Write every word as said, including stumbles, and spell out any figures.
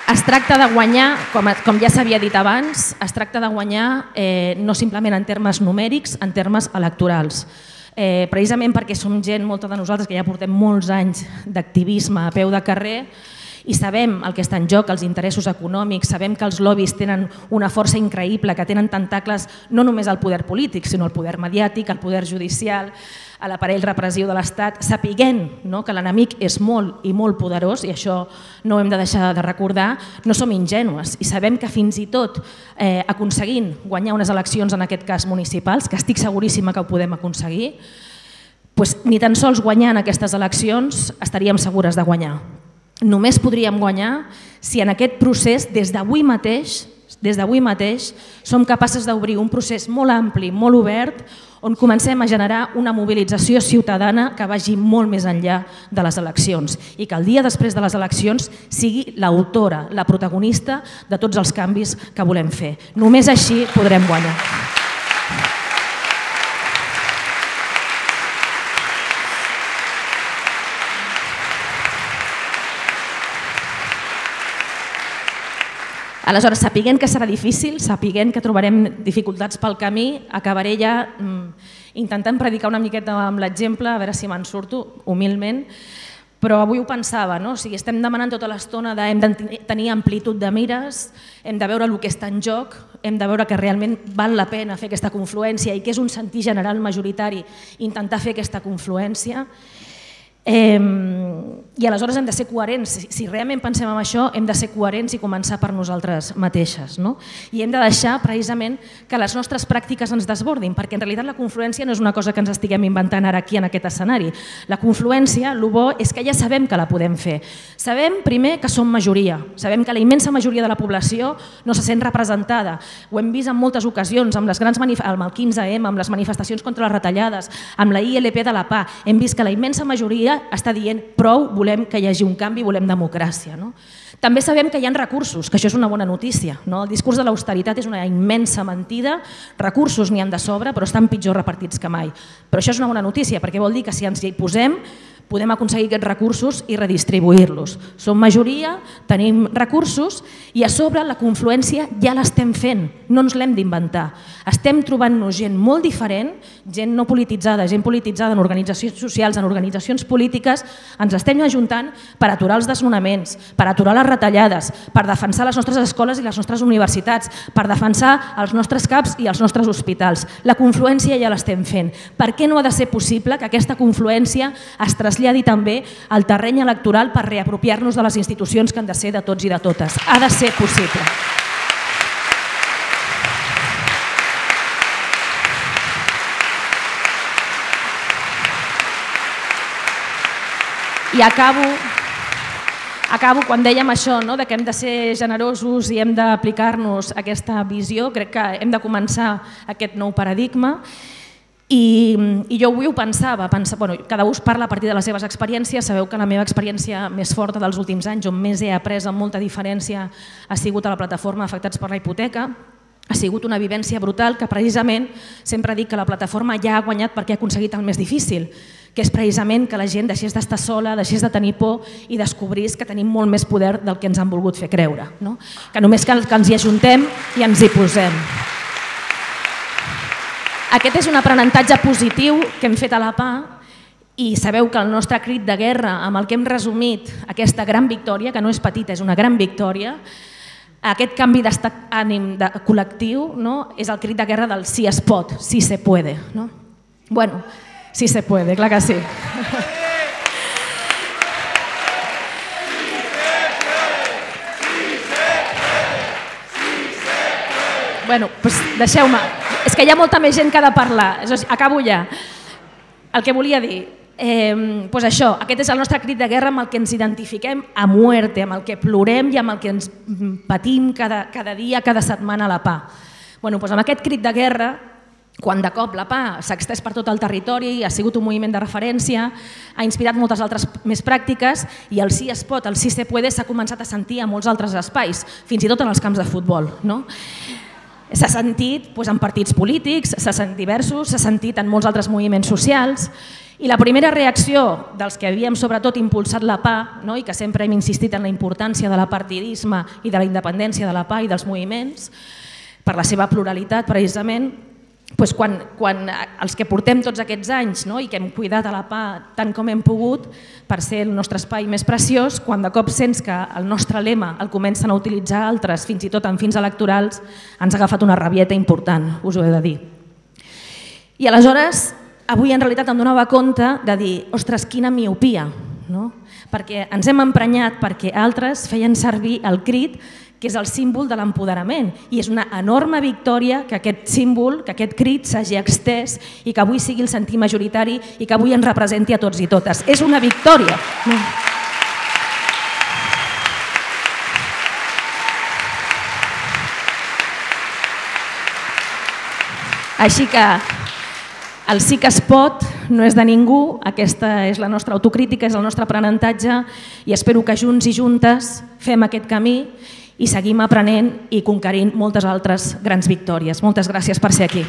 Es tracta de guanyar, com ja s'havia dit abans, es tracta de guanyar no simplement en termes numèrics, en termes electorals. Precisament perquè som gent, molta de nosaltres, que ja portem molts anys d'activisme a peu de carrer i sabem el que està en joc, els interessos econòmics, sabem que els lobbies tenen una força increïble, que tenen tentacles no només al poder polític, sinó al poder mediàtic, al poder judicial, a l'aparell repressiu de l'Estat, sapiguent que l'enemic és molt i molt poderós, i això no ho hem de deixar de recordar, no som ingenues i sabem que fins i tot aconseguint guanyar unes eleccions, en aquest cas municipals, que estic seguríssima que ho podem aconseguir, ni tan sols guanyant aquestes eleccions estaríem segures de guanyar. Només podríem guanyar si en aquest procés, des d'avui mateix, des d'avui mateix, som capaces d'obrir un procés molt ampli, molt obert, on comencem a generar una mobilització ciutadana que vagi molt més enllà de les eleccions i que el dia després de les eleccions sigui l'autora, la protagonista de tots els canvis que volem fer. Només així podrem guanyar. Aleshores, sapiguent que serà difícil, sapiguent que trobarem dificultats pel camí, acabaré ja intentant predicar una miqueta amb l'exemple, a veure si me'n surto, humilment, però avui ho pensava, no? O sigui, estem demanant tota l'estona de hem de tenir amplitud de mires, hem de veure el que està en joc, hem de veure que realment val la pena fer aquesta confluència i que és un sentir general majoritari intentar fer aquesta confluència. I aleshores hem de ser coherents, si realment pensem en això hem de ser coherents i començar per nosaltres mateixes i hem de deixar precisament que les nostres pràctiques ens desbordin, perquè en realitat la confluència no és una cosa que ens estiguem inventant ara aquí en aquest escenari. La confluència, el bo és que ja sabem que la podem fer. Sabem primer que som majoria, sabem que la immensa majoria de la població no se sent representada, ho hem vist en moltes ocasions, amb el quinze ema, amb les manifestacions contra les retallades, amb la I L P de la P A, hem vist que la immensa majoria està dient prou, volem que hi hagi un canvi, volem democràcia. També sabem que hi ha recursos, que això és una bona notícia. El discurs de l'austeritat és una immensa mentida, recursos n'hi han de sobre, però estan pitjor repartits que mai. Però això és una bona notícia, perquè vol dir que si ens hi posem podem aconseguir aquests recursos i redistribuir-los. Som majoria, tenim recursos i a sobre la confluència ja l'estem fent, no ens l'hem d'inventar. Estem trobant-nos gent molt diferent, gent no polititzada, gent polititzada en organitzacions socials, en organitzacions polítiques, ens estem ajuntant per aturar els desnonaments, per aturar les retallades, per defensar les nostres escoles i les nostres universitats, per defensar els nostres CAPs i els nostres hospitals. La confluència ja l'estem fent. Per què no ha de ser possible que aquesta confluència es traslladi també al terreny electoral per reapropiar-nos de les institucions que han de ser de tots i de totes? Ha de ser possible. I acabo, acabo quan dèiem això, que hem de ser generosos i hem d'aplicar-nos aquesta visió. Crec que hem de començar aquest nou paradigma. I jo avui ho pensava, cada un parla a partir de les seves experiències, sabeu que la meva experiència més forta dels últims anys, on més he après amb molta diferència, ha sigut a la plataforma Afectats per la Hipoteca. Ha sigut una vivència brutal que precisament sempre dic que la plataforma ja ha guanyat perquè ha aconseguit el més difícil, que és precisament que la gent deixés d'estar sola, deixés de tenir por i descobrís que tenim molt més poder del que ens han volgut fer creure, que només cal que ens hi ajuntem i ens hi posem. Aquest és un aprenentatge positiu que hem fet a la P A i sabeu que el nostre crit de guerra, amb el que hem resumit aquesta gran victòria, que no és petita, és una gran victòria, aquest canvi d'estat ànim col·lectiu és el crit de guerra del sí es pot, sí se puede. Bueno, sí se puede, clar que sí. Bueno, doncs deixeu-me. És que hi ha molta més gent que ha de parlar. Acabo ja. El que volia dir, doncs això, aquest és el nostre crit de guerra amb el que ens identifiquem a muerte, amb el que plorem i amb el que ens patim cada dia, cada setmana a la P A. Doncs amb aquest crit de guerra, quan de cop la P A s'ha extès per tot el territori, ha sigut un moviment de referència, ha inspirat moltes altres més pràctiques i el sí es pot, el sí se puede s'ha començat a sentir a molts altres espais, fins i tot en els camps de futbol. S'ha sentit en partits polítics, s'ha sentit diversos, s'ha sentit en molts altres moviments socials I la primera reacció dels que havíem sobretot impulsat la P A, no? I que sempre hem insistit en la importància de l'apartidisme i de la independència de la P A i dels moviments, per la seva pluralitat precisament, doncs quan, quan els que portem tots aquests anys, no? I que hem cuidat a la P A tant com hem pogut per ser el nostre espai més preciós, quan de cop sents que el nostre lema el comencen a utilitzar altres, fins i tot amb fins electorals, ens ha agafat una rabieta important, us ho he de dir. I aleshores, avui en realitat em donava compte de dir, ostres, quina miopia, no? Perquè ens hem emprenyat perquè altres feien servir el crit, que és el símbol de l'empoderament, i és una enorme victòria que aquest símbol, que aquest crit s'hagi extès i que avui sigui el sentir majoritari i que avui ens representi a tots i totes. És una victòria. Així que el sí que es pot no és de ningú, aquesta és la nostra autocrítica, és el nostre aprenentatge i espero que junts i juntes fem aquest camí i seguim aprenent i conquerint moltes altres grans victòries. Moltes gràcies per ser aquí.